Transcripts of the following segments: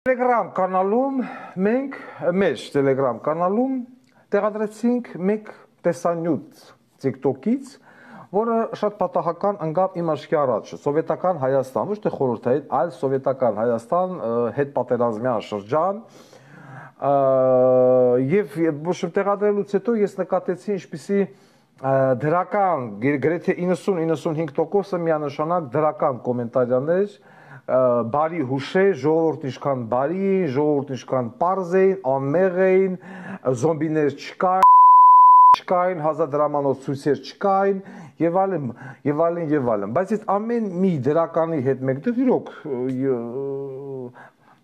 Telegram կանալում մենք մեր Telegram կանալում տեղադրեցինք մեկ տեսանյութ TikTok-ից, որը շատ պատահական ընկավ իմ աչքի առաջ։ Սովետական Հայաստան, ոչ թե խորհրդային, այլ սովետական Հայաստան, հետպատերազմյան շրջան։ Եվ տեղադրելուց հետո ես նկատեցի ինչպիսի դրական, գրեթե 90-95%-ը միանշանակ դրական կոմենտարիաներ, բարի հուշեր, ժողովուրդ ինչքան բարի, ժողովուրդ ինչքան պարզ էին, անմեղ էին, զոմբիներ չկային, հազարդրամանոց ցույցեր չկային, եւ այլն, եւ այլն, եւ այլն։ Բայց այս ամեն մի դրականի հետ մեկտեղ իրոք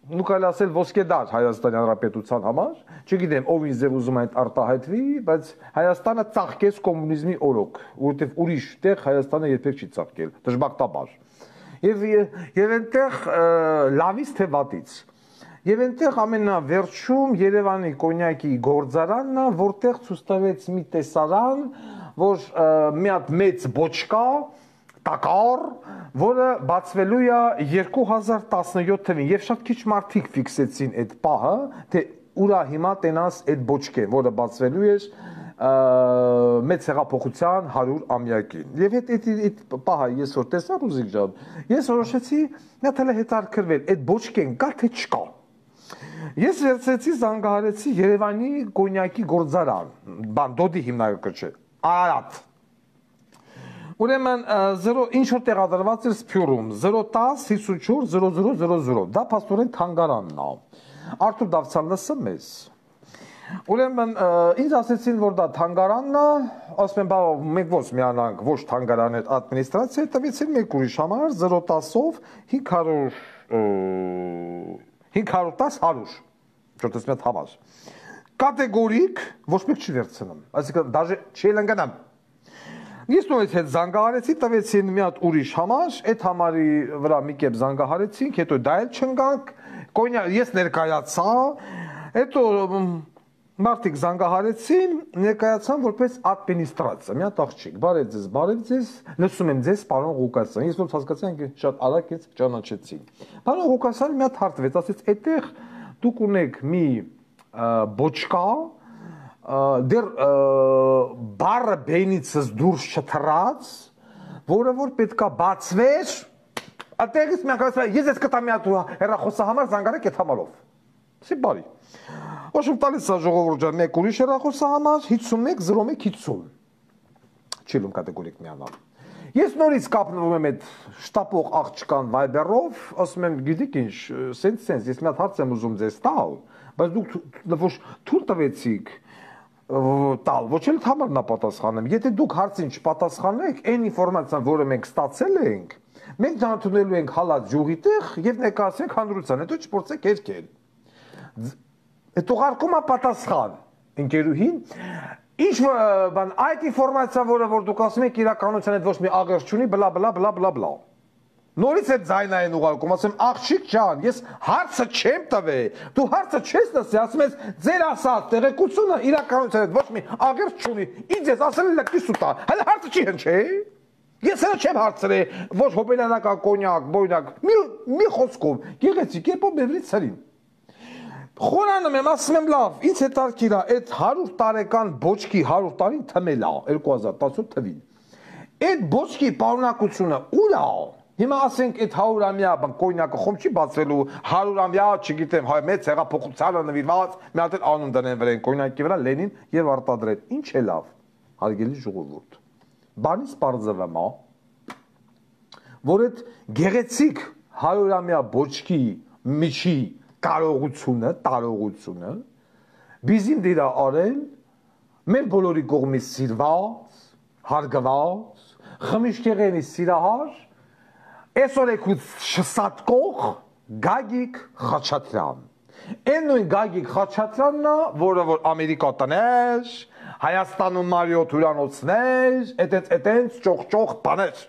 նու կարելի ասել ոսկեդար Հայաստանի Հանրապետության համար, չգիտեմ ով ինձ ուզում այդ արտահայտվի, բայց Հայաստանը ծաղկեց կոմունիզմի օրոք, որովհետեւ ուրիշ տեղ Հայաստանը երբեք չի ծաղկել, դժբախտաբար։ Եվ այնտեղ լավից թե վատից։ Եվ այնտեղ ամենավերջում Երևանի կոնյակի գործարանն է, որտեղ ցույց տվեց մի տեսարան, որ մի հատ մեծ բոչկա, տակառ, որը բացվելու է 2017 թվին, եւ շատ քիչ մարդիկ ֆիքսեցին այդ պահը, թե ուրա հիմա տենաս այդ բոչկեն, որը բացվելու է մեծ հեղափոխության 100-ամյակին։ Եվ այդ պահը ես որ տեսա Ռուզիկ ջան, ես որոշեցի նա թելը հետաքրքրվել, այդ բոչկեն կա թե չկա։ Ես վերցրեցի զանգահարեցի Երևանի կոնյակի գործարան, Դոդի հիմնարկը չէ, Արարատ։ Ուրեմն ինչ որ տեղադրված էր Սփյուռում 010 54 0000, դա փաստորեն թանգարանն է։ Արթուր Դավթյան լսում ես։ Ուրեմն ինձ ասեցին, որ դա թանգարանն է, ասում եմ, բա մենք ոնց միանանք, ոչ թանգարան այդ ադմինիստրացիա, տվեցին մեկ ուրիշ համար 010-ով 510 100, չորտես մի հատ համար։ Կատեգորիկ ոչ մեկ չի վերցնում, այսինքն դաժե չի լնգանամ։ Ես նույնիսկ հետ զանգահարեցի, տվեցին մի հատ ուրիշ համար, այդ համարի վրա մի կերպ զանգահարեցինք, հետո դա էլ չընկանք, ես ներկայացա, հետո մարդիկ զանգահարեցին, ներկայացան որպես ադմինիստրացիա, մի հատ աղջիկ, բարև ձեզ, լսում եմ ձեզ, պարոն Ղուկասյան, ես ոնց հասկացա, շատ արագ ինձ ճանաչեցին։ Պարոն Ղուկասյանը մի հատ հարցվեց, ասեց, այդտեղ դուք ունեք մի բոչկա, դեռ բառը բենիցս դուրս չթռած, որը որ պետքա բացվեր, այդտեղից մի հատ ես ես կտամ մի հատ հեռախոսահամար զանգարեք այդ համարով։ Սի բարի։ Ոչմ տալիս է ժողովուրդ ջան, մեկ ուրիշ հեռախոսահամար 510150։ Չիլում կատեգորիկ միանալ։ Ես նորից կապնվում եմ այդ շտապող աղջկան Viber-ով, ասում եմ, գիտեք ինչ, սենց, ես մի հատ հարց եմ ուզում ձեզ տալ, բայց դուք ոչ թույլ տվեցիք տալ, ոչ էլ համարն պատասխանեմ։ Եթե դուք հարցին չպատասխանեք, այն ինֆորմացիան, որը մենք ստացել ենք, մենք ճանաչելու ենք հալած յուղի տեղ եւ ներկայացնենք հանրության, հետո չփորձեք երկել։ Այդ ուղարկում է պատասխան ընկերուհին, ինչ բան այդ ինֆորմացիա, որը որ դուք ասում եք իրականության հետ ոչ մի աղերս չունի, բլա բլա բլա բլա բլա։ Նորից այդ ձայնային ուղարկում, ասում աղջիկ ջան, ես հարցը չեմ տվել, դու հարցը չես լսի, ասում ես ձեր ասած տեղեկությունը իրականության հետ ոչ մի աղերս չունի, ինձ ես ասել եմ լկի սուտա, հələ հարցը չի հնչի։ Ես հələ չեմ հարցրել, ոչ հոբելյանական կոնյակ, բոյնակ, մի խոսքով, գեղեցիկ կերպով բերվի ցրին։ Խորանում եմ, ասում եմ լավ, ինձ հետաքրքիր է, այդ 100 տարեկան բոչկի 100 տարին թմել է 2018 թվին։ Այդ բոչկի պարունակությունը ուր է։ Հիմա ասենք այդ 100-ամյա կոնյակը խոմ չի բացվելու, 100-ամյա, չգիտեմ, մեծ հեղափոխությանը նվիրված, մի հատ էլ անուն դնեն վրան կոնյակի վրա Լենին եւ արտադրեն։ Ինչ է լավ, հարգելի ժողովուրդ։ Բանից պարզվում է, որ այդ գեղեցիկ 100-ամյա բոչկի միջի տարողությունը բիզին դիրա արել մեր բոլորի կողմից սիրված, հարգված, խմիչքեղենի սիրահար, այսօր եկուց շսատկող Գագիկ Խաչատրյան։ Այն նույն Գագիկ Խաչատրյանն է, որը որ Ամերիկա տներ, Հայաստանում Մարիոթ հյուրանոցներ, էտենց ճոխ բաներ։